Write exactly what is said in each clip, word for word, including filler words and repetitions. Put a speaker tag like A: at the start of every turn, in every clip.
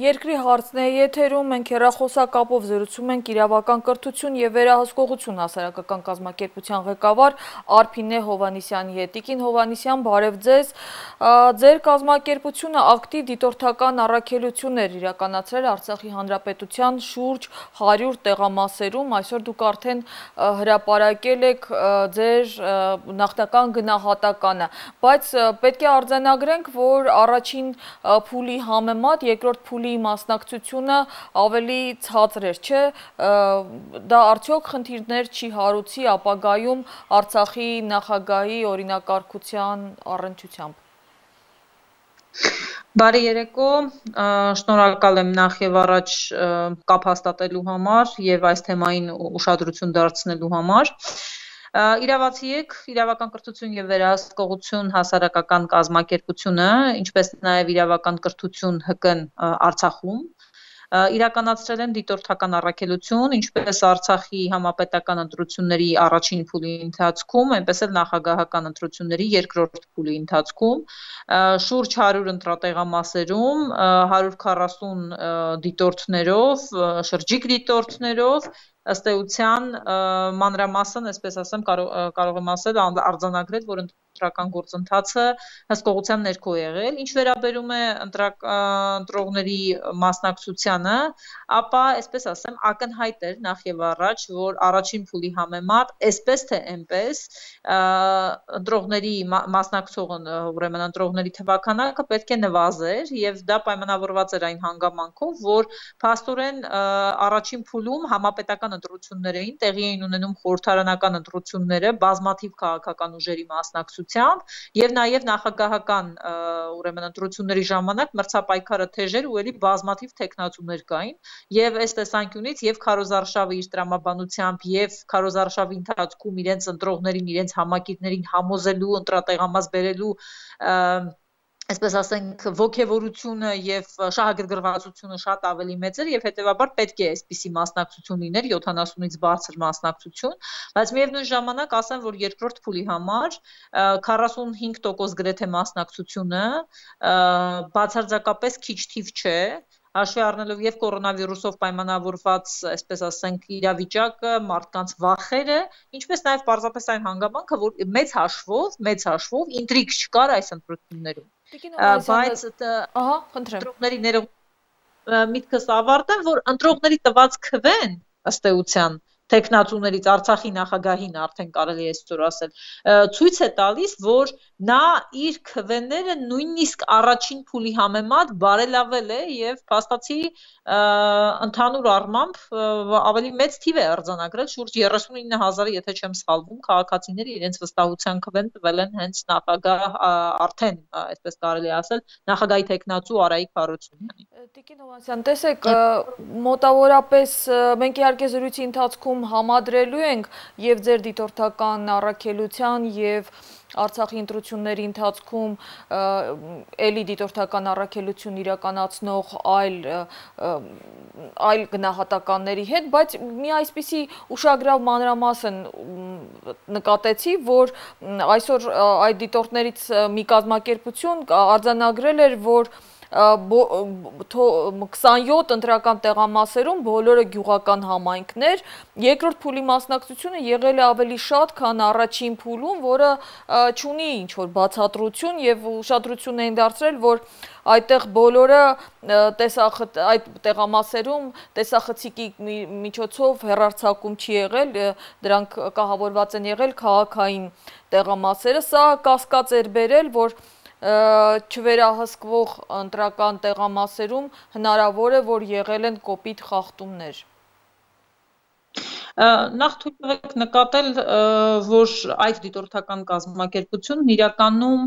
A: Երկրի հարցն է եթերում, մենք հեռախոսակապով զրուցում ենք իրավական կրթություն և վերահսկողություն հասարակական կազմակերպության ղեկավար Արփինե Հովհաննիսյանի հետ։ Տիկին Հովհաննիսյան, բարև ձեզ։ Ձեր կազմակերպությունը ակտիվ դիտորդական առաքելություններ իրականացրել Արցախի Հանրապետության շուրջ հարյուր տեղամասերում, այսօր դուք արդեն հրապարակել եք ձեր նախնական գնահատականը, բայց պետք է արձանագրենք, որ առաջին փուլի համեմատ երկրորդ փուլի մասնակցությունը ավելի ցածր էր, չէ՞, դա արդյոք խնդիրներ չի հարուցի ապագայում Արցախի նախագահի օրինակարգության առնչությամբ։
B: Բարի երեկո, շնորհակալ եմ նախ եւ առաջ կապ հաստատելու համար եւ այս թեմային ուշադրություն դարձնելու համար։ Իրավացի եք, իրավական կրթություն և վերահսկողություն հասարակական կազմակերպությունը, ինչպես նաև իրավական կրթություն ՀԿ-ն Արցախում, իրականացրել են դիտորդական առաքելություն, ինչպես Արցախի համապետական ընտրությունների առաջին փուլի ընթացքում, այնպես էլ նախագահական ընտրությունների երկրորդ փուլի ընթացքում, շուրջ հարյուր ընտրատեղամասերում, հարյուր քառասուն դիտորդներով, շրջիկ դիտորդներով, ըստ էության մանրամասն, այսպես ասեմ, կարող եմ ասել, արձանագրել, որ ընտրական գործընթացը հսկողության ներքո եղել, ինչ վերաբերում է ընտրողների մասնակցությանը, ապա, այսպես ասեմ, ակնհայտ էր նախ եւ առաջ, որ առաջին փուլի համեմատ, այսպես թե այնպես, ընտրողների մասնակցող, ուրեմն ընտրողների թվաքանակը պետք է նվազեր եւ դա պայմանավորված էր այն հանգամանքով, որ փաստորեն առաջին փուլում համապետական ընտրություններ էին, տեղի էին ունենում խորհրդարանական ընտրությունները բազմաթիվ քաղաքական ուժերի մասնակցությամբ եւ նաեւ նախագահական ուրեմն ընտրությունների ժամանակ մրցապայքարը թեժ էր ու էլի բազմաթիվ տեխնացուներ կային եւ այս տեսանկյունից եւ Քարոզարշավը իր տրամաբանությամբ եւ Քարոզարշավի ընթացքում իրենց ընտրողներին, իրենց համակիրներին համոզելու, ընտրատեղամաս բերելու այսպես ասենք ոգևորությունը եւ շահագրգռվածությունը շատ ավելի մեծ էր եւ հետեւաբար պետք է այսպիսի մասնակցություն լիներ յոթանասունից բարձր մասնակցություն, բայց միևնույն ժամանակ ասեմ, որ երկրորդ փուլի համար քառասունհինգ տոկոս գրեթե մասնակցությունը բացարձակապես քիչ թիվ չէ, հաշվի առնելով եւ կորոնավիրուսով պայմանավորված, այսպես ասենք, իրավիճակը, մարդկանց վախերը, ինչպես նաեւ պարզապես այն հանգամանքը, որ մեծ հաշվով, մեծ հաշվով ինտրիգ չկար այս ընտրություններում։ Բայց
A: ահա, խնդրեմ։
B: Ընտրողների ներողություն միտքս ավարտեմ, որ ընտրողների տված քվեն, ըստ էության, տեխնացուներից Արցախի նախագահին արդեն կարելի է այսօր ասել, ցույց է տալիս, որ նա իր քվեները նույնիսկ առաջին փուլի համեմատ բարելավել է եւ փաստացի ընդհանուր առմամբ ավելի մեծ թիվ է արձանագրել, շուրջ երեսունինը հազար, եթե չեմ սխալվում, քաղաքացիները իրենց վստահության քվեն տվել են հենց նախագահ արդեն, այսպես կարելի է ասել, նախագահի տեխնացու Արայիկ Հարությունյանին։
A: Տիկին Հովհաննիսյան, տեսեք, մոտավորապես մենք իհարկե զրույցի ընթացքում համադրելու ենք եւ ձեր դիտորդական առաքելության եւ Արցախի ընտրությունների ընթացքում էլի դիտորդական առաքելություն իրականացնող այլ այլ գնահատականների հետ, բայց մի այսպիսի ուշագրավ մանրամասն նկատեցի, որ այսօր այդ դիտորդներից մի կազմակերպություն արձանագրել էր, որ քսանյոթ ընտրական տեղամասերում բոլորը գյուղական համայնքներ, երկրորդ փուլի մասնակցությունը եղել է ավելի շատ, քան առաջին փուլում, որը չունի ինչ-որ բացատրություն եւ ուշադրություն էին դարձրել, որ այդտեղ բոլորը այդ տեղամասերում տեսախցիկի միջոցով հեռարձակում չի եղել, դրանք կահավորված են եղել քաղաքային տեղամասերը, սա կասկած էր բերել, որ չվերահսկվող ընտրական տեղամասերում հնարավոր է, որ եղել են կոպիտ խախտումներ։
B: Նախ թույլ տվեք նկատել, որ այդ դիտորդական կազմակերպությունն իրականում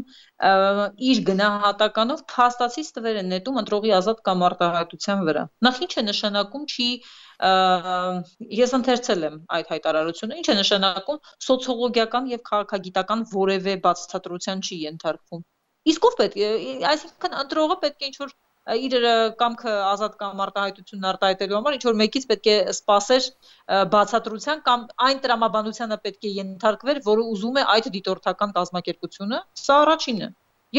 B: իր գնահատականով փաստացից տվեր է նետում ընտրողի ազատ կամ արտահայտության վրա։ Նախ ինչ է նշանակում, չի ես ընթերցել եմ այդ հայտարարությունը, ինչ է նշանակում սոցիոլոգիական եւ քաղաքագիտական որևէ բացատրության չի ենթարկվում։ Իսկ ով պետք է, այսինքն ընտրողը պետք է ինչ-որ իր կամքը ազատ կամ արտահայտությունն արտահայտելու համար ինչ-որ մեկից պետք է սպասեր բացատրության կամ այն տրամաբանությանը պետք է ենթարկվեր, որը ուզում է այդ դիտորդական կազմակերպությունը, սա առաջինը։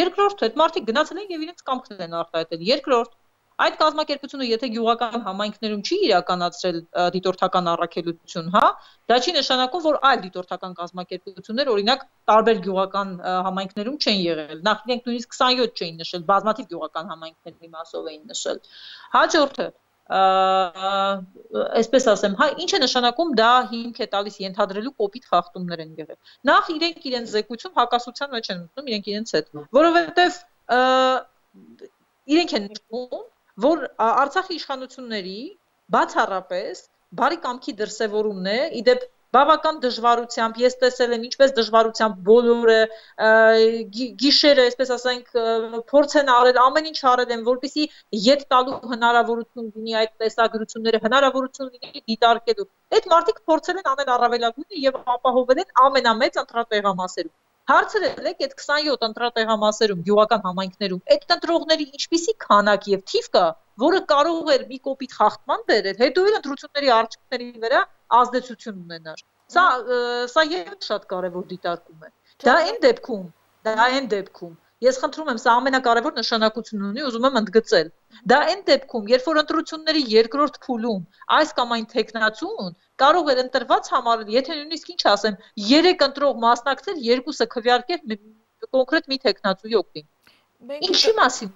B: Երկրորդը, այդ մարդիկ գնացել են եւ իրենց կամքն են արտահայտել։ Երկրորդ, Այդ կազմակերպությունը եթե գյուղական համայնքներում չի իրականացրել դիտորդական առաքելություն, հա, դա չի նշանակում, որ այլ դիտորդական կազմակերպություններ, օրինակ, տարբեր գյուղական համայնքներում չեն եղել։ Նախ իրենք նույնիսկ քսանյոթ չէին նշել, բազմաթիվ գյուղական համայնքների մասով էին նշել։ Հաջորդը այսպես ասեմ, հա, ինչ է նշանակում, դա հիմք է տալիս ենթադրելու կոպիտ խախտումներ են եղել։ Նախ իրենք իրենց զեկույցում հակասության մեջ են մտնում իրենք իրենց հետ, որովհետև իրենք են նշում, որ Արցախի իշխանությունների բացառապես բարի կամքի դրսևորումն է, իդեպ բավական դժվարությամբ, ես տեսել եմ ինչպես դժվարությամբ բոլորը գիշերը, այսպես ասենք, փորձ են արել, ամեն ինչ արել են, որպեսզի ետ տալու հնարավորություն լինի այդ տեսագրությունները, հնարավորություն լինի դիտարկելու։ Այդ մարդիկ փորձել են անել առավելագույնը եւ ապահովել են ամենամեծ ընտրատեղամասերում։ Հարցրել եք այդ քսանյոթ ընտրատեղամասերում, գյուղական համայնքներում, այդ ընտրողների ինչպիսի քանակ եւ թիվ կա, որը կարող էր մի կոպիտ խախտման բերել, հետո էլ ընտրությունների արդյունքների վրա ազդեցություն ունենար։ Սա սա եւս շատ կարեւոր դիտարկում է։ Դա այն դեպքում, դա այն դեպքում, ես խնդրում եմ, սա ամենակարևոր նշանակություն ունի, ուզում եմ ընդգծել։ Դա այն դեպքում, երբ որ ընտրությունների երկրորդ փուլում այս կամ այն տեխնացուն կարող էր ընտրված համարել, եթե նույնիսկ ինչ ասեմ, երեք ընտրող մասնակցել, երկուսը քվեարկել կոնկրետ մի տեխնացուի օգտին։ Ինչի մասին։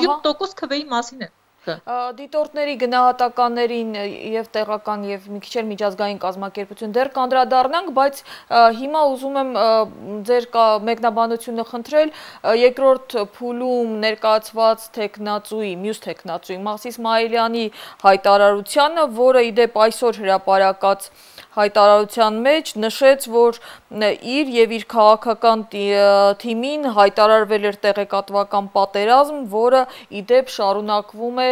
B: յոթ տոկոս քվեի մասին է։
A: Դիտորդների գնահատականներին եւ տեղական եւ մի քիչ էլ միջազգային կազմակերպություն դեռ կանդրադառնանք, բայց հիմա ուզում եմ ձեր մեկնաբանությունը խնդրել երկրորդ փուլում ներկայացված տեխնացուի, մյուս տեխնացուի Մահսիս Իսմայելյանի հայտարարությանը, որը իդեպ այսօր հրապարակած հայտարարության մեջ նշեց, որ իր եւ իր քաղաքական թիմին հայտարարվել էր տեղեկատվական պատերազմ, որը իդեպ շարունակվում է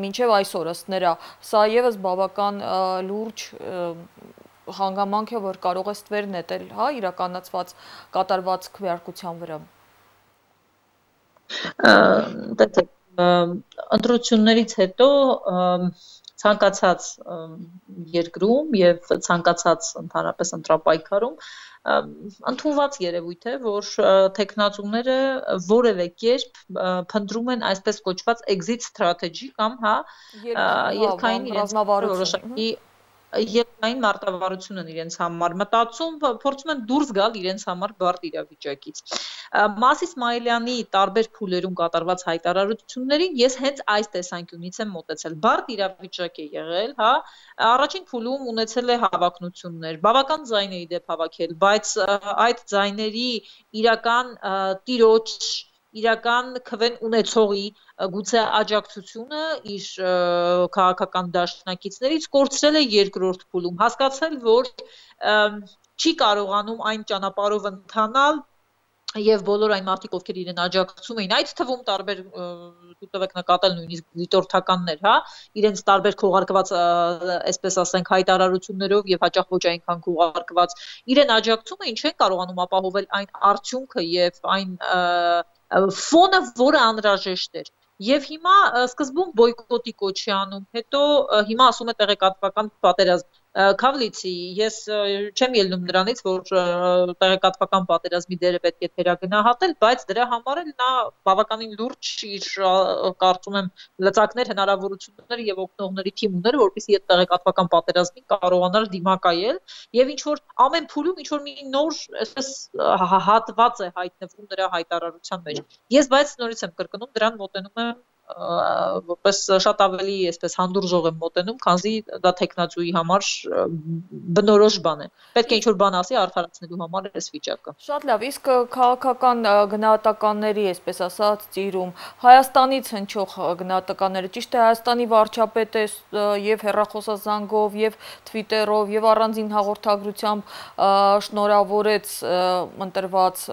A: մինչև այսօր ըստ նրա։ Սա եւս բավական լուրջ հանգամանք է, որ կարող է ստվեր նետել, հա, իրականացված կատարված քվեարկության վրա։
B: Տեսեք, ընտրություններից հետո ցանկացած երկրում եւ ցանկացած ընդհանրապես ընտրապայքարում ընդունված երևույթ է, որ տեխնացուները որևէ կերպ փնտրում են այսպես կոչված exit strategy կամ հա երկային իրենց որոշակի երկային մարտավարություն են իրենց համար մտածում, փորձում են դուրս գալ իրենց համար բարդ իրավիճակից։ Մահսիս Իսմայելյանի տարբեր փուլերում կատարված հայտարարություններին ես հենց այս տեսանկյունից եմ մոտեցել։ Բարդ իրավիճակ է եղել, հա, առաջին փուլում ունեցել է հավակնություններ, բավական ձայն է իդեպ հավաքել, բայց այդ ձայների իրական տիրոջ իրական քվեն ունեցողի գուցե աջակցությունը իր քաղաքական դաշնակիցներից կորցրել է երկրորդ փուլում, հասկացել, որ չի կարողանում այն ճանապարհով ընթանալ եւ բոլոր այն մարդիկ, ովքեր իրեն աջակցում էին, այդ թվում տարբեր դուք եք նկատել նույնիսկ դիտորդականներ, հա, իրենց տարբեր քողարկված, այսպես ասենք, հայտարարություններով եւ հաճախ ոչ այնքան քողարկված, իրեն աջակցում էին, չեն կարողանում ապահովել այն արդյունքը եւ այն ֆոնը, որը անհրաժեշտ էր։ Եվ հիմա սկզբում բոյկոտի կոչի անում, հետո հիմա ասում է տեղեկատվական պատերազմ։ Քավլիցի, ես չեմ ելնում նրանից, որ տեղեկատվական պատերազմի դերը պետք է թերագնահատել, բայց դրա համար էլ նա բավականին լուրջ իր կարծում եմ լծակներ, հնարավորություններ եւ օգնողների թիմ ուներ, որպեսզի այդ տեղեկատվական պատերազմին կարողանար դիմակայել եւ ինչ որ ամեն փուլում ինչ որ մի նոր այսպես հատված է հայտնվում նրա հայտարարության մեջ։ Ես բայց նորից եմ կրկնում, դրան մոտենում եմ որպես շատ ավելի այսպես հանդուրժող եմ մոտենում, քանզի դա տեխնացուի համար բնորոշ բան է։ Պետք է ինչ-որ բան ասի արդարացնելու համար այս վիճակը։
A: Շատ լավ, իսկ քաղաքական գնահատականների, այսպես ասած, ծիրում Հայաստանից հնչող գնահատականները, ճիշտ է, Հայաստանի վարչապետը եւ հեռախոսազանգով, եւ Twitter-ով, եւ առանձին հաղորդագրությամբ շնորհավորեց ընտրված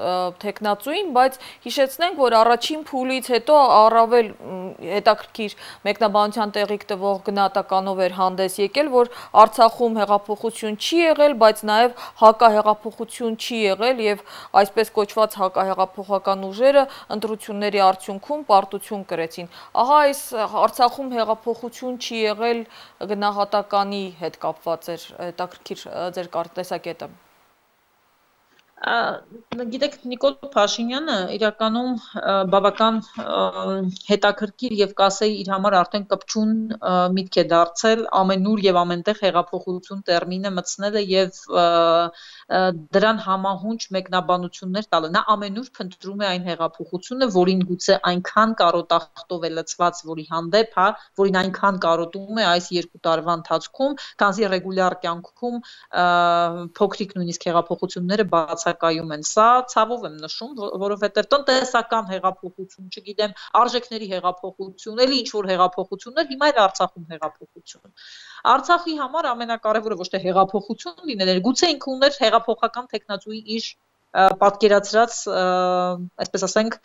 A: տեխնացուին, բայց հիշեցնենք, որ առաջին փուլից հետո առավել հետաքրքիր մեկնաբանության տեղիք տվող գնահատականով էր հանդես եկել, որ Արցախում հեղափոխություն չի եղել, բայց նաև հակահեղափոխություն չի եղել եւ այսպես կոչված հակահեղափոխական ուժերը ընտրությունների արդյունքում պարտություն կրեցին։ Ահա այս Արցախում հեղափոխություն չի եղել գնահատականի հետ կապված էր հետաքրքիր ձեր տեսակետը։
B: Գիտեք, Նիկոլ Փաշինյանը իրականում բավական հետաքրքիր եւ կասեի իր համար արդեն կպչուն միտք է դարձել ամենուր եւ ամենտեղ հեղափոխություն տերմինը մտցնելը եւ դրան համահունչ մեկնաբանություններ տալը։ Նա ամենուր փնտրում է այն հեղափոխությունը, որին գուցե այնքան կարոտախտով է լցված, որի հանդեպ, հա, որին այնքան կարոտում է այս երկու տարվա ընթացքում, քանզի ռեգուլյար կյանքում փոքրիկ նույնիսկ հեղափոխությունները բացակայում են։ Սա ցավով եմ նշում, որովհետև տնտեսական հեղափոխություն, չգիտեմ, արժեքների հեղափոխություն, էլի ինչ որ հեղափոխություններ, հիմա էլ Արցախում հեղափոխություն։ Արցախի համար ամենակարևորը ոչ թե հեղափոխություն լինելը, գուցե ինքը ուներ հեղափոխական տեխնացուի իր պատկերացրած, այսպես ասենք,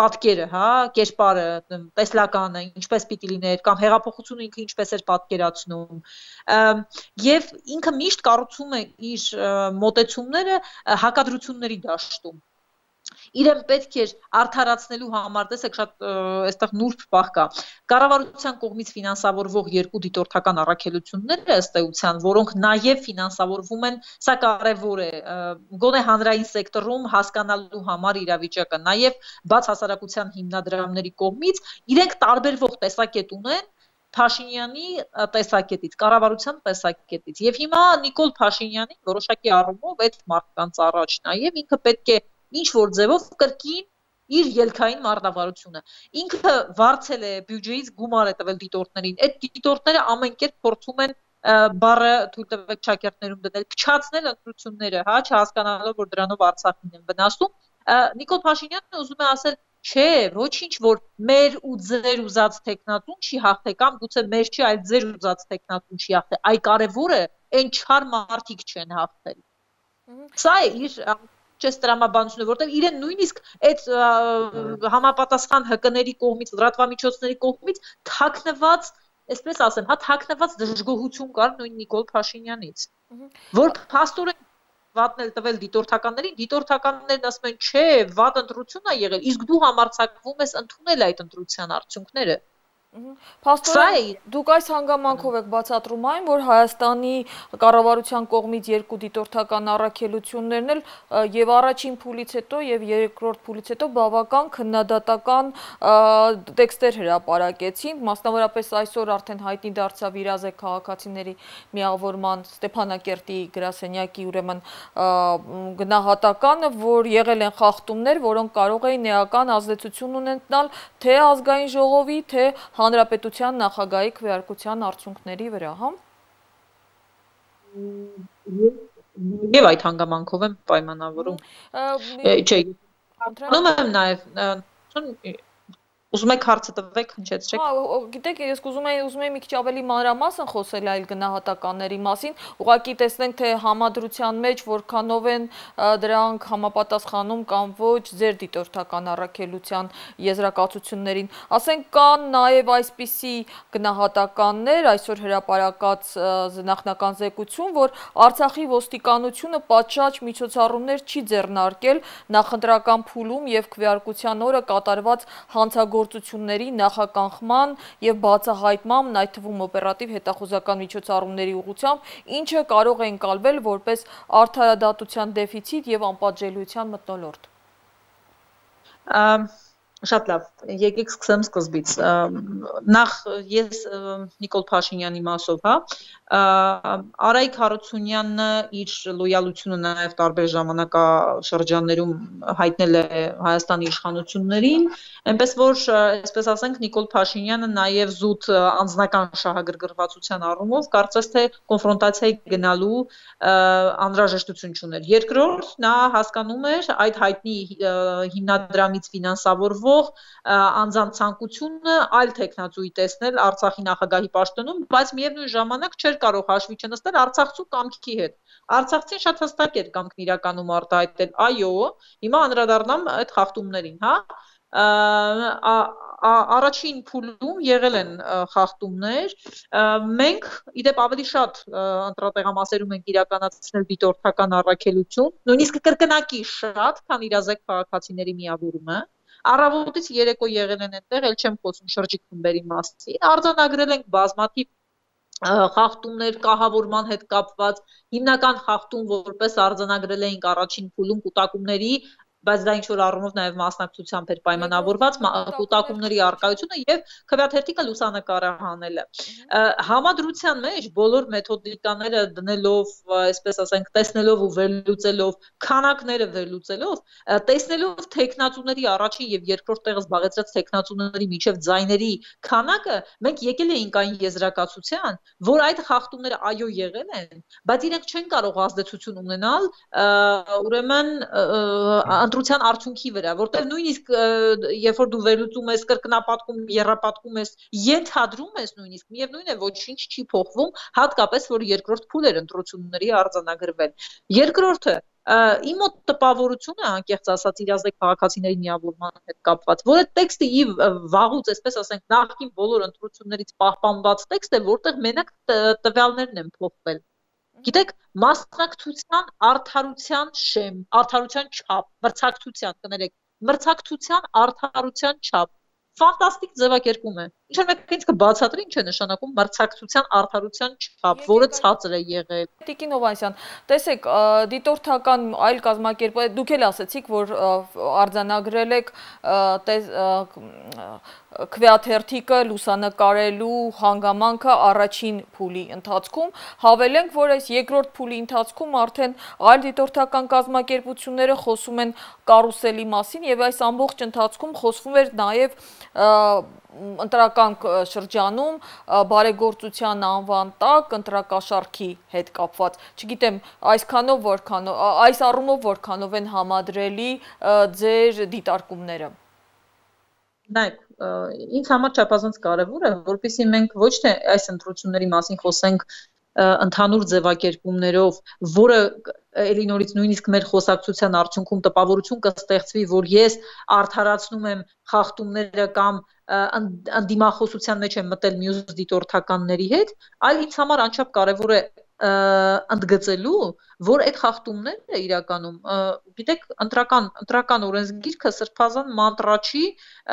B: պատկերը, հա, կերպարը, տեսլականը, ինչպես պիտի լիներ, կամ հեղափոխությունը ինքը ինչպես էր պատկերացնում, եւ ինքը միշտ կառուցում է իր մոտեցումները հակադրությունների դաշտում։ Իրեն պետք էր արդարացնելու համար, տեսեք, շատ այստեղ նուրբ բախ կա։ Կառավարության կողմից ֆինանսավորվող երկու դիտորդական առաքելությունները ըստ էության, որոնք նաև ֆինանսավորվում են, սա կարևոր է, գոնե հանրային սեկտորում հասկանալու համար իրավիճակը, նաև բաց հասարակության հիմնադրամների կողմից իրենք տարբերվող տեսակետ ունեն Փաշինյանի տեսակետից, կառավարության տեսակետից։ Եվ հիմա Նիկոլ Փաշինյանին որոշակի առումով այդ մարդկանց առաջ նաև ինքը պետք է ինչ որ ձևով կրկին իր ելքային մարտավարությունը։ Ինքը վարձել է բյուջեից գումար է տվել դիտորդներին։ Այդ դիտորդները ամեն կերպ փորձում են բառը թույլ տվեք ճակերտներում դնել, փչացնել ընտրությունները, հա, չհասկանալով, որ դրանով Արցախին են վնասում։ Նիկոլ Փաշինյանը ուզում է ասել, չէ, ոչինչ, որ մեր ու ձեր ուզած տեխնատուն չի հաղթե կամ գուցե մեր չի, այլ ձեր ուզած տեխնատուն չի հաղթե։ Այ կարևորը այն չար մարդիկ չեն հաղթել։ Սա է իր չես տրամաբանությունը, որտեղ իրեն նույնիսկ այդ համապատասխան հկների կողմից, լրատվամիջոցների կողմից թաքնված, այսպես ասեմ, հա, թաքնված դժգոհություն կար նույն Նիկոլ Փաշինյանից, որ փաստորեն վատն էլ տվել դիտորդականներին, դիտորդականներն ասում են, չէ, վատ ընտրություն է եղել, իսկ դու համարձակվում ես ընդունել այդ ընտրության արդյունքները։
A: Փաստորեն դուք այս հանգամանքով եք բացատրում այն, որ Հայաստանի կառավարության կողմից երկու դիտորդական առաքելություններն էլ եւ առաջին փուլից հետո եւ երկրորդ փուլից հետո բավական քննադատական տեքստեր հրապարակեցին, մասնավորապես այսօր արդեն հայտնի դարձավ իրազեկ քաղաքացիների միավորման Ստեփանակերտի գրասենյակի ուրեմն գնահատականը, որ եղել են խախտումներ, որոնք կարող էին էական ազդեցություն ունենալ թե ազգային ժողովի, թե Հանրապետության նախագահի քվեարկության արդյունքների վրա, հա։
B: Եվ այդ հանգամանքով եմ պայմանավորում։ Չէ, անում եմ նաև ուզում եք հարցը տվեք, հնչեցրեք։
A: Գիտեք, ես ուզում եի ուզում եի մի քիչ ավելի մանրամասն խոսել այլ գնահատականների մասին, ուղղակի տեսնենք, թե համադրության մեջ որքանով են դրանք համապատասխանում կամ ոչ ձեր դիտորդական առաքելության եզրակացություններին։ Ասենք կան նաև այսպիսի գնահատականներ, այսօր հրապարակած նախնական զեկույցում, որ Արցախի ոստիկանությունը պատշաճ միջոցառումներ չի ձեռնարկել նախընտրական փուլում եւ քվեարկության օրը կատարված հանցագործությունների գործությունների նախականխման եւ բացահայտման, այդ թվում օպերատիվ հետախուզական միջոցառումների ուղղությամբ, ինչը կարող է ընկալվել որպես արդարադատության դեֆիցիտ եւ անպատժելիության մթնոլորտ։
B: Շատ լավ, եկեք սկսեմ սկզբից։ Նախ ես Նիկոլ Փաշինյանի մասով, հա, Արայիկ Հարությունյանը իր լոյալությունը նաև տարբեր ժամանակաշրջաններում հայտնել է Հայաստանի իշխանություններին, այնպես որ, այսպես ասենք, Նիկոլ Փաշինյանը նաև զուտ անձնական շահագրգռվածության առումով կարծես թե կոնֆրոնտացիայի գնալու անհրաժեշտություն չուներ։ Երկրորդ, նա հասկանում էր այդ հայտնի հիմնադրամից ֆինանսավորվող անձանց ցանկությունը այլ տեխնացուի տեսնել Արցախի նախագահի պաշտոնում, բայց միևնույն ժամանակ չէր կարող հաշվի չնստել արցախցու կամքի հետ։ Արցախցին շատ հստակ էր կամքն իրականում արտահայտել, այո, հիմա անդրադառնամ այդ խախտումներին, հա։ Առաջին փուլում եղել են խախտումներ, մենք իդեպ ավելի շատ ընտրատեղամասերում ենք իրականացնել դիտորդական առաքելություն, նույնիսկ կրկնակի շատ, քան իրազեկ քաղաքացիների միավորումը։ Առավոտից երեկո եղել են այնտեղ, էլ չեմ խոսում շրջիկ խմբերի մասին, արձանագրել ենք բազմաթիվ խախտումներ կահավորման հետ կապված, հիմնական խախտում որպես արձանագրել էինք առաջին փուլում կուտակումների, բայց դա ինչ-որ առումով նաև մասնակցությամբ էր պայմանավորված կուտակումների առկայությունը եւ քվեաթերթիկը լուսանկարը հանելը։ Համադրության մեջ բոլոր մեթոդիկաները դնելով, այսպես ասենք, տեսնելով ու վերլուծելով, քանակները վերլուծելով, տեսնելով տեխնացուների առաջին եւ երկրորդ տեղը զբաղեցրած տեխնացուների միջև ձայների քանակը, մենք եկել էինք այն եզրակացության, որ այդ խախտումները այո եղել են, բայց իրենք չեն կարող ազդեցություն ունենալ, ուրեմն ընտրության արդյունքի վրա, որտեղ նույնիսկ երբ որ դու վերլուծում ես, կրկնապատկում, եռապատկում ես, ենթադրում ես նույնիսկ, միևնույն է ոչինչ չի փոխվում, հատկապես որ երկրորդ փուլ էր ընտրությունների արձանագրվել։ Երկրորդը իմ մոտ տպավորությունը, անկեղծ ասած, իրազեկ քաղաքացիների միավորման հետ կապված, որ այդ տեքստը ի վաղուց, այսպես ասենք, նախկին բոլոր ընտրություններից պահպանված տեքստ է, որտեղ մենակ տվյալներն են փոխվել։ Գիտեք, մասնակցության արդարության շեմ, արդարության չափ, մրցակցության, կներեք, մրցակցության արդարության չափ, ֆանտաստիկ ձևակերպում է։ Ինչ-որ մեկը ինձ կբացատրի ինչ է նշանակում մրցակցության արդարության չափ, որը ցածր է եղել։
A: Տիկին Հովհաննիսյան, տեսեք, դիտորդական այլ կազմակերպ, դուք էլ ասեցիք, որ արձանագրել եք քվեաթերթիկը լուսանկարելու հանգամանքը առաջին փուլի ընթացքում, հավելենք, որ այս երկրորդ փուլի ընթացքում արդեն այլ դիտորդական կազմակերպությունները խոսում են կարուսելի մասին եւ այս ամբողջ ընթացքում խոսվում էր նաեւ ընտրական շրջանում բարեգործության անվան տակ ընտրակաշառքի հետ կապված, չգիտեմ, այսքանով որքանով, այս առումով որքանով են համադրելի ձեր դիտարկումները։
B: Նայեք, ինձ համար չափազանց կարևոր է, որպեսզի մենք ոչ թե այս ընտրությունների մասին խոսենք ընդհանուր ձևակերպումներով, որը էլի նորից նույնիսկ մեր խոսակցության արդյունքում տպավորություն կստեղծվի, որ ես արդարացնում եմ խախտումները կամ ընդդիմախոսության մեջ եմ մտել մյուս դիտորդականների հետ, այլ ինձ համար անչափ կարևոր է ընդգծելու, որ այդ խախտումները իրականում, գիտեք, ընտրական ընտրական օրենսգիրքը սրբազան մանտրա չի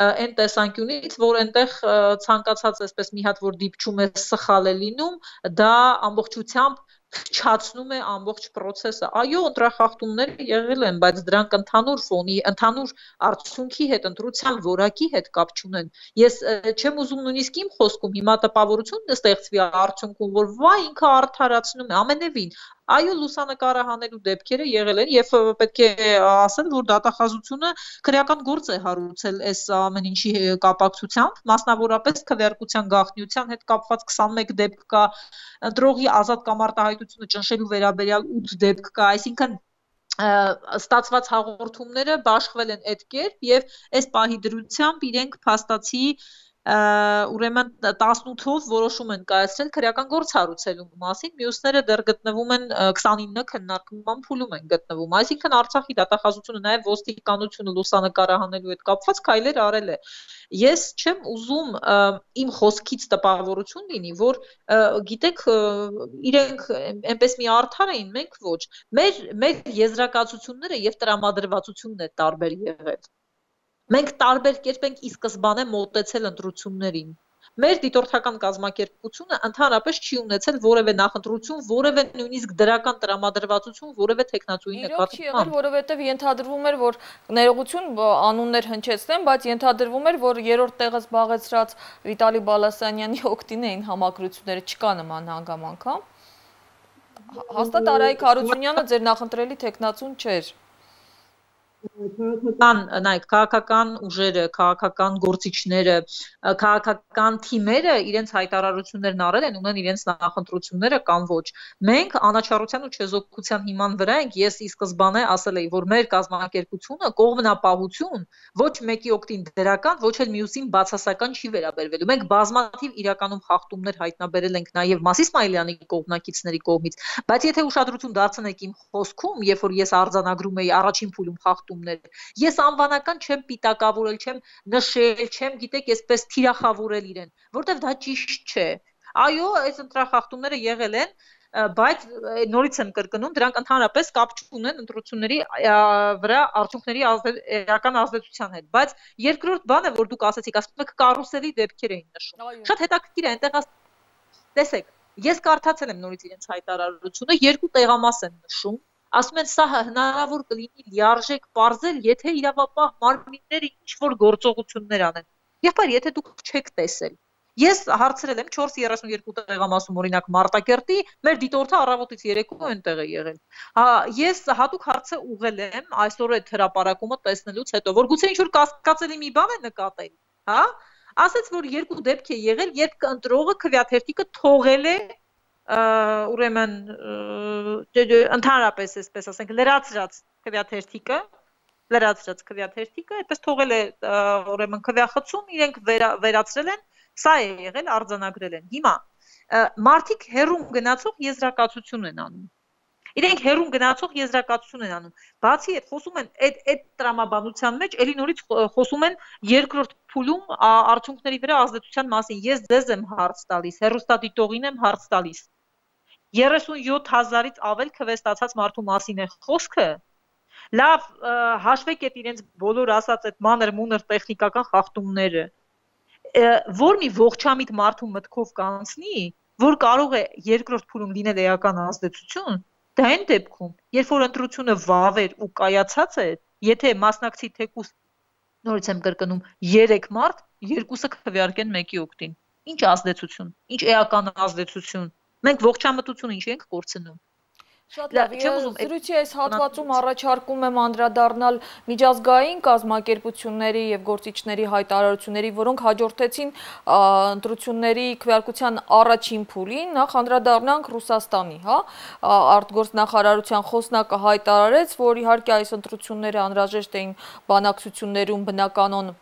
B: այն տեսանկյունից, որ այնտեղ ցանկացած այսպես մի հատ որ դիպչում է սխալ է լինում, դա ամբողջությամբ չացնում է ամբողջ process-ը։ Այո, ընտրախախտումները եղել են, բայց դրանք ընդհանուր ֆոնի, ընդհանուր արդյունքի հետ, ընտրության որակի հետ կապ չունեն։ Ես չեմ ուզում նույնիսկ իմ խոսքում հիմա տպավորություն ստեղծվի արդյունքում, որ վայ ինքը արդարացնում է, ամենևին։ Այո, լուսանկարը հանելու դեպքերը եղել են եւ պետք է ասել, որ դատախազությունը քրեական գործ է հարուցել այս ամեն ինչի կապակցությամբ, մասնավորապես քվեարկության գաղտնիության հետ կապված քսանմեկ դեպք կա, ընտրողի ազատ կամ արտահայտությունը ճնշելու վերաբերյալ ութ դեպք կա, այսինքն ստացված հաղորդումները բաշխվել են այդ կերպ եւ այս պահի դրությամբ իրենք փաստացի ուրեմն տասնութով որոշում են կայացրել քրեական գործ հարուցելու մասին, մյուսները դեռ գտնվում են քսանինը քննարկման փուլում են գտնվում, այսինքն Արցախի դատախազությունը նաև ոստիկանությունը լուսանկարահանելու հետ կապված քայլեր արել է։ Ես չեմ ուզում իմ խոսքից տպավորություն լինի, որ գիտեք, իրենք այնպես մի արդար էին, մենք ոչ։ Մեր մեր եզրակացությունները եւ տրամադրվածությունն է տարբեր եղել։ Մենք տարբեր կերպ ենք ի սկզբանե մոտեցել ընտրություններին։ Մեր դիտորդական կազմակերպությունը ընդհանրապես չի ունեցել որևէ նախընտրություն, որևէ նույնիսկ դրական տրամադրվածություն, որևէ տեխնացուի նկատմամբ։
A: Իրոք չի եղել, որովհետև ենթադրվում էր, որ ներողություն անուններ հնչեցնեմ, բայց ենթադրվում էր, որ երրորդ տեղը զբաղեցրած Վիտալի Բալասանյանի օգտին էին համակրությունները, չկա նման հանգամանք, հա։ Հաստատ Արայիկ Հարությունյանը ձեր նախընտրելի տեխնացուն չէր։
B: Քաղաքական, նայեք, քաղաքական ուժերը, քաղաքական գործիչները, քաղաքական թիմերը իրենց հայտարարություններն արել են, ունեն իրենց նախընտրությունները կամ ոչ։ Մենք անաչառության ու չեզոքության հիման վրա ենք, ես ի սկզբանե ասել էի, որ մեր կազմակերպությունը կողմնապահություն ոչ մեկի օգտին դրական, ոչ էլ մյուսին բացասական չի վերաբերվելու։ Մենք բազմաթիվ իրականում խախտումներ հայտնաբերել ենք նաև Մասի Իսմայելյանի կողմնակիցների կողմից, բայց եթե ուշադրություն դարձնեք իմ խոսքում, երբ որ ես արձանագրում էի առաջին փուլում խախտումներ, ես անվանական չեմ պիտակավորել, չեմ նշել, չեմ, գիտեք, այսպես թիրախավորել իրեն, որտեվ դա ճիշտ չէ։ Այո, այս ընտրախախտումները եղել են, բայց նորից եմ կրկնում, դրանք ընդհանրապես կապ չունեն ընտրությունների վրա արդյունքների էական ազդեցության հետ, բայց երկրորդ բանը, որ դուք ասացիք, ասում եք կարուսելի դեպքեր էին նշում։ Շատ հետաքրքիր է, այնտեղ տեսեք, Ես կարդացել եմ նորից իրենց հայտարարությունը, երկու տեղամաս են նշում, ասում են սա հնարավոր կլինի լիարժեք պարզել, եթե իրավապահ մարմինները ինչ-որ գործողություններ անեն։ Եղբայր, եթե դուք չեք տեսել։ Ես հարցրել եմ չորս երեսուն երկու տեղամասում, օրինակ Մարտակերտի, մեր դիտորդը առավոտից երեկո այնտեղ է եղել։ Հա, ես հատուկ հարցը ուղղել եմ այսօր այդ հրապարակումը տեսնելուց հետո, որ գուցե ինչ-որ կասկածելի մի բան է նկատել, հա? Ասաց, որ երկու դեպք է եղել, երբ ընտրողը քվեաթերթիկը թողել է, ուրեմն ընդհանրապես այսպես ասենք, լրացրած քվեաթերթիկը, լրացրած քվեաթերթիկը, այդպես թողել է, ուրեմն քվեախցում, իրենք վերացրել են, սա է եղել, արձանագրել են։ Հիմա մարդիկ հերում գնացող եզրակացություն են անում։ Իրենք հերում գնացող եզրակացություն են անում։ Բացի այդ, խոսում են այդ այդ տրամաբանության մեջ, ելի նորից խոսում են երկրորդ փուլում արդյունքների վրա ազդեցության մասին։ Ես ձեզ եմ հարց տալիս, հեռուստադիտողին եմ հարց տալիս։ երեսունյոթ հազարից ավել քվեստացած մարդու մասին է խոսքը։ Լավ, հաշվեք այդ իրենց բոլոր ասած այդ մանր-մունր տեխնիկական խախտումները, որ մի ողջամիտ մարդու մտքով կանցնի, որ կարող է երկրորդ փուլում լինել էական ազդեցություն, դա այն դեպքում, երբ որ ընտրությունը վավեր ու կայացած է, եթե մասնակցի թեկուզ, նորից եմ կրկնում, երեք մարդ, երկուսը քվեարկեն մեկի օգտին։ Ինչ ազդեցություն, ինչ էական ազդեցություն։ Մենք ողջամտությունը ինչ ենք կորցնում։
A: Շատ լավ, զրույցի այս հատվածում առաջարկում եմ անդրադառնալ միջազգային կազմակերպությունների եւ գործիչների հայտարարությունների, որոնք հաջորդեցին ընտրությունների քվեարկության առաջին փուլին, նախ անդրադառնանք Ռուսաստանի, հա, արտգործնախարարության խոսնակը հայտարարեց, որ իհարկե այս ընտրությունները անհրաժեշտ էին բանակցություններում բնականon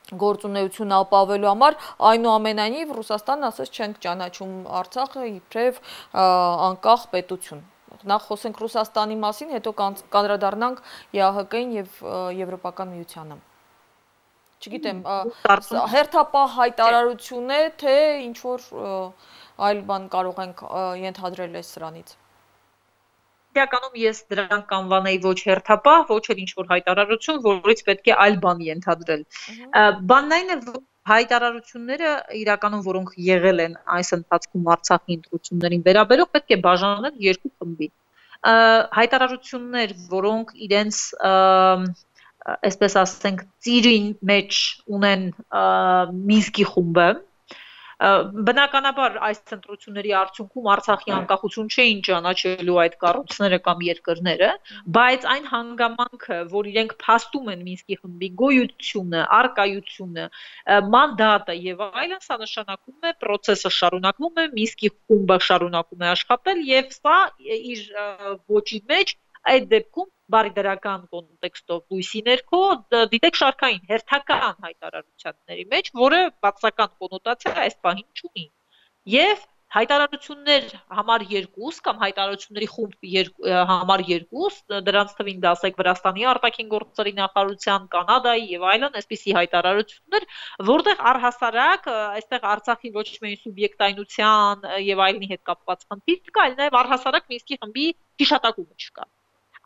A: գործունեություն ապավելու համար, այնուամենայնիվ Ռուսաստանն ասաց չենք ճանաչում Արցախը իբրև անկախ պետություն։ Նախ խոսենք Ռուսաստանի մասին, հետո կանդրադառնանք ԵԱՀԿ-ին եւ Եվրոպական միությանը։ Չգիտեմ, հերթապահ հայտարարություն է, թե ինչ որ այլ բան կարող ենք ենթադրել այս սրանից։
B: Իրականում ես դրան կանվանեի ոչ հերթապահ, ոչ էլ ինչ որ հայտարարություն, որից պետք է այլ բան ենթադրել։ Բանն այն է, որ հայտարարությունները իրականում որոնք եղել են այս ընթացքում Արցախի ընտրություններին վերաբերող, պետք է բաժանել երկու խմբի։ Հայտարարություններ, որոնք իրենց այսպես ասենք ծիրին մեջ ունեն Մինսկի խումբը, բնականաբար այս ընտրությունների արդյունքում Արցախի անկախություն չէին ճանաչելու այդ կառույցները կամ երկրները, բայց այն հանգամանքը, որ իրենք փաստում են Մինսկի խմբի գոյությունը, առկայությունը, մանդատը եւ այլն, սա նշանակում է process-ը շարունակվում է, Մինսկի խումբը շարունակում է աշխատել եւ սա իր ոճի մեջ այդ դեպքում բարի դրական կոնտեքստով լույսի ներքո դիտեք շարքային հերթական հայտարարությունների մեջ, որը բացական կոնոտացիա այս պահին չունի։ Եվ հայտարարություններ համար երկուս կամ հայտարարությունների խումբ համար երկուս, դրանց թվին դասեք Վրաստանի արտաքին գործերի նախարարության, Կանադայի եւ այլն, այսպիսի հայտարարություններ, որտեղ առհասարակ այստեղ Արցախի ոչ միայն սուբյեկտայնության եւ այլնի հետ կապված խնդիր կա, այլ նաեւ առհասարակ Մինսկի խմբի հիշատակումը չկա։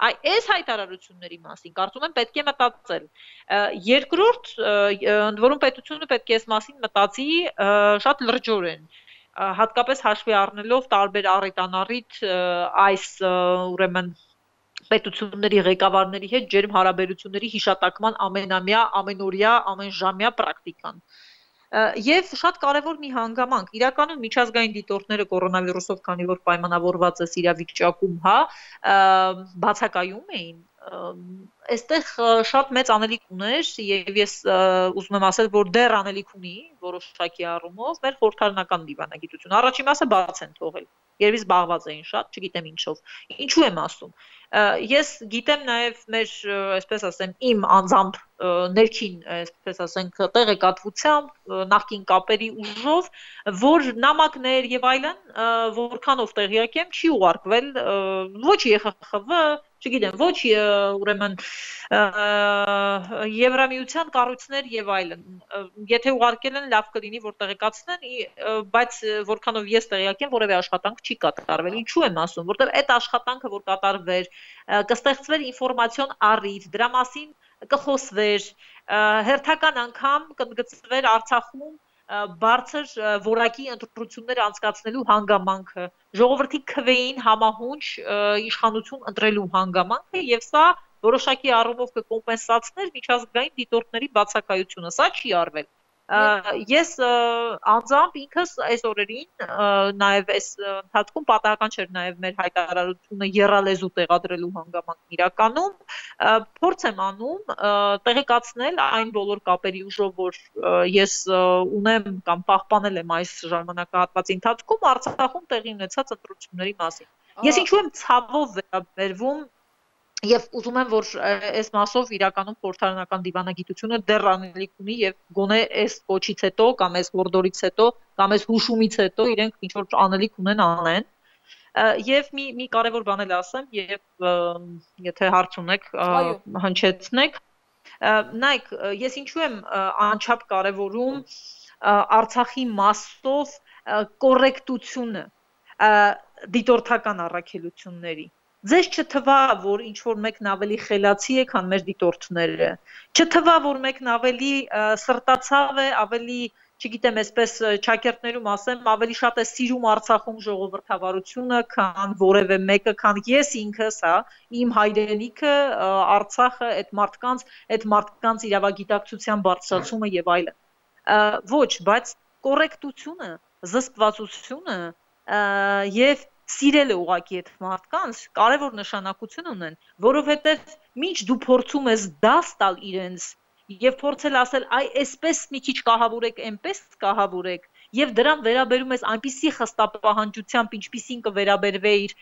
B: Այս հայտարարությունների մասին կարծում եմ պետք է մտածել։ Երկրորդ, ընդ որում պետությունը պետք է այս մասին մտածի շատ լրջորեն, հատկապես հաշվի առնելով տարբեր առիթանառիթ այս ուրեմն պետությունների ղեկավարների հետ ջերմ հարաբերությունների հիշատակման ամենամյա, ամենօրյա, ամենժամյա պրակտիկան։ Եվ շատ կարևոր մի հանգամանք, իրականում միջազգային դիտորդները կորոնավիրուսով, քանի որ պայմանավորված է իրավիճակում, հա, բացակայում էին, այստեղ շատ մեծ անելիք ուներ եւ ես ուզում եմ ասել, որ դեռ անելիք ունի որոշակի առումով մեր խորհրդարանական դիվանագիտությունը։ Առաջին մասը բաց են թողել, երևի զբաղված էին շատ, չգիտեմ ինչով։ Ինչու եմ ասում։ Ես գիտեմ նաև մեր, այսպես ասեմ, իմ անձամբ ներքին, այսպես ասենք, տեղեկատվությամբ, նախկին կապերի ուժով, որ նամակներ եւ այլն, որքանով տեղյակ եմ, չի ուղարկվել ոչ ԵԽԽՎ, չգիտեմ, ոչ ուրեմն Եվրամիության կառույցներ եւ այլն։ Եթե ուղարկել են, լավ կլինի, որ տեղեկացնեն, բայց որքանով ես տեղյակ եմ, որևէ աշխատանք չի կատարվել։ Ինչու եմ ասում, որտեղ այդ աշխատանքը, որ կատարվեր, կստեղծվեր ինֆորմացիոն առիթ, դրա մասին կխոսվեր, հերթական անգամ կընդգծվեր Արցախում բարձր որակի ընտրություններ անցկացնելու հանգամանքը, ժողովրդի քվեին համահունչ իշխանություն ընտրելու հանգամանքը եւ սա որոշակի առումով կկոմպենսացներ միջազգային դիտորդների բացակայությունը, սա չի արվել։ Ես անձամբ ինքս այս օրերին նաև այս ընթացքում պատահական չէր նաև մեր հայտարարությունը եռալեզու տեղադրելու հանգամանքն իրականում փորձ եմ անում տեղեկացնել այն բոլոր կապերի ուժով, որ ես ունեմ կամ պահպանել եմ այս ժամանակահատվածի ընթացքում Արցախում տեղի ունեցած ընտրությունների մասին։ Ես ինչու եմ ցավով վերաբերվում Եվ ուզում եմ, որ այս մասով իրականում խորհրդարանական դիվանագիտությունը դեռ անելիք ունի եւ գոնե այս կոչից հետո կամ այս հորդորից հետո կամ այս հուշումից հետո իրենք ինչ որ անելիք ունեն անեն։ Եվ մի մի կարևոր բան էլ ասեմ եւ եթե հարց ունեք հնչեցնեք։ Նայեք, ես ինչու եմ անչափ կարևորում Արցախի մասով կոռեկտությունը դիտորդական առաքելությունների Ձեզ չթվա, որ ինչ-որ մեկն ավելի խելացի է, քան մեր դիտորդները, չթվա, որ մեկն ավելի սրտացավ է, ավելի, չգիտեմ, այսպես ճակերտներում ասեմ, ավելի շատ է սիրում Արցախում ժողովրդավարությունը, քան որևէ մեկը, քան ես ինքս, հա, իմ հայրենիքը, Արցախը, այդ մարդկանց, այդ մարդկանց իրավագիտակցության բարձրացումը եւ այլն։ Ոչ, բայց կոռեկտությունը, զսպվածությունը եւ Սիրելը ուղակի այդ մարդկանց կարևոր նշանակություն ունեն, որովհետև մինչ դու փորձում ես դաս տալ իրենց եւ փորձել ասել, այ այսպես մի քիչ կահավորեք, այնպես կահավորեք, եւ դրան վերաբերում ես այնպիսի խստապահանջությամբ, ինչպիսին կվերաբերվեիր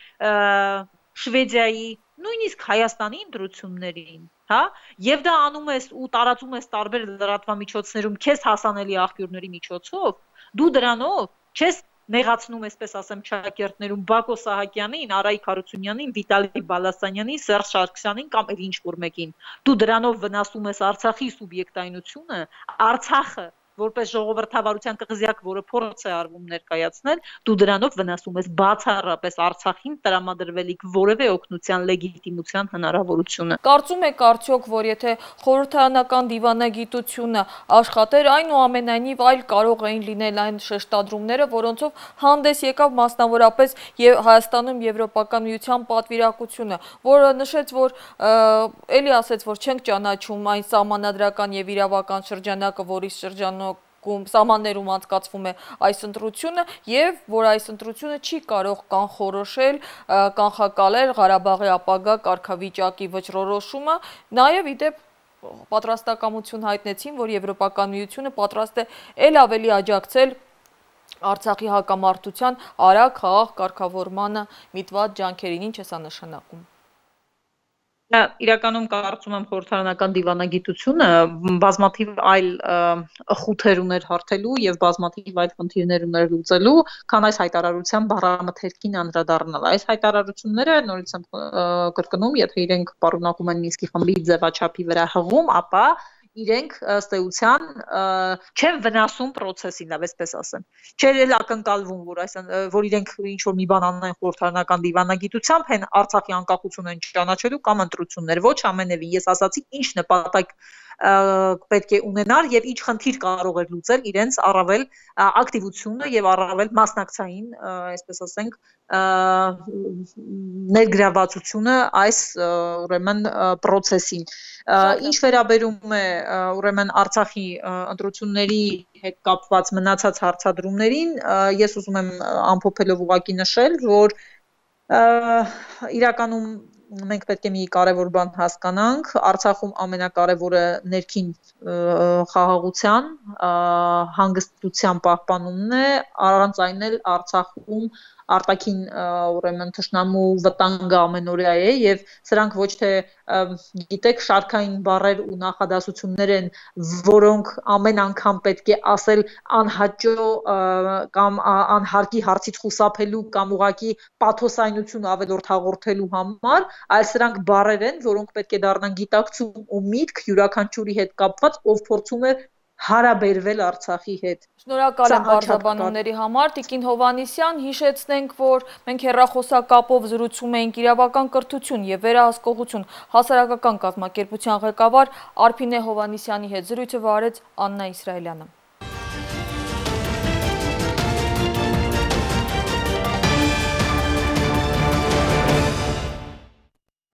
B: Շվեդիայի, նույնիսկ Հայաստանի ընտրություններին, հա, եւ դա անում ես ու տարածում ես տարբեր լրատվամիջոցներում քեզ հասանելի աղբյուրների միջոցով, դու դրանով չես Նեղացնում այսպես ասեմ ճակերտներում Բակո Սահակյանին, Արայիկ Հարությունյանին, Վիտալի Բալասանյանին, Սերժ Սարգսյանին կամ էլ ինչ-որ մեկին։ Դու դրանով վնասում ես Արցախի սուբյեկտայնությունը, Արցախը որպես ժողովրդավարության կղզյակ, որը փորձ է արվում ներկայացնել, դու դրանով վնասում ես բացառապես Արցախին տրամադրվելիք որևէ օգնության լեգիտիմության հնարավորությունը։
A: Կարծում եք արդյոք, որ եթե խորհրդարանական դիվանագիտությունը աշխատեր, այնուամենայնիվ այլ կարող էին լինել այն շեշտադրումները, որոնցով հանդես եկավ մասնավորապես եւ Հայաստանում Եվրոպական միության պատվիրակությունը, որը նշեց, որ էլի ասեց, որ չենք ճանաչում այն սահմանադրական եւ իրավական շրջանակը, որի շրջանով Սահմաններում անցկացվում է այս ընտրությունը եւ որ այս ընտրությունը չի կարող կանխորոշել, կանխակալել Ղարաբաղի ապագա կարգավիճակի վճռորոշումը, նաեւ իդեպ պատրաստակամություն հայտնեցին, որ Եվրոպական միությունը պատրաստ է ել ավելի աջակցել Արցախի հակամարտության արագ խաղաղ կարգավորմանը միտված ջանքերին, ինչ է սա նշանակում։
B: Իրականում կարծում եմ խորհրդարանական դիվանագիտությունը բազմաթիվ այլ խութեր ուներ հարթելու եւ բազմաթիվ այլ խնդիրներ ուներ լուծելու, քան այս հայտարարության բառամթերքին անդրադառնալ։ Այս հայտարարությունները նորից եմ կրկնում, եթե իրենք պարունակում են Մինսկի խմբի ձևաչափի վրա հղում, ապա իրենք ըստ էության չեն վնասում process-ին, լավ այսպես ասեմ։ Չէր էլ ակնկալվում, որ այս որ իրենք ինչ որ մի բան անեն խորհրդարանական դիվանագիտությամբ, հեն Արցախի անկախությունը ճանաչելու կամ ընտրություններ, ոչ ամենևին։ Ես ասացի ինչ նպատակ պետք է ունենար եւ ինչ խնդիր կարող էր լուծել իրենց առավել ակտիվությունը եւ առավել մասնակցային, այսպես ասենք, ներգրավվածությունը այս ուրեմն process-ին։ Ինչ վերաբերում է ուրեմն Արցախի ընտրությունների հետ կապված մնացած հարցադրումներին, ես ուզում եմ ամփոփելով ուղղակի նշել, որ իրականում մենք պետք է մի կարևոր բան հասկանանք, Արցախում ամենակարևորը ներքին խաղաղության, հանգստության պահպանումն է, առանց այն էլ Արցախում արտաքին ուրեմն թշնամու վտանգը ամենօրյա է եւ սրանք ոչ թե գիտեք շարքային բառեր ու նախադասություններ են, որոնք ամեն անգամ պետք է ասել անհաճո կամ անհարկի հարցից խուսափելու կամ ուղղակի պաթոսայնություն ավելորդ հաղորդելու համար, այլ սրանք բառեր են, որոնք պետք է դառնան գիտակցում ու միտք յուրաքանչյուրի հետ կապված, ով փորձում է հարաբերվել Արցախի հետ։
A: Շնորհակալ եմ բարձրաբանումների համար, Տիկին Հովհաննիսյան, հիշեցնենք, որ մենք հեռախոսակապով զրուցում էինք իրավական կրթություն եւ վերահսկողություն հասարակական կազմակերպության ղեկավար Արփինե Հովհաննիսյանի հետ, զրույցը վարեց Աննա Իսրայելյանը։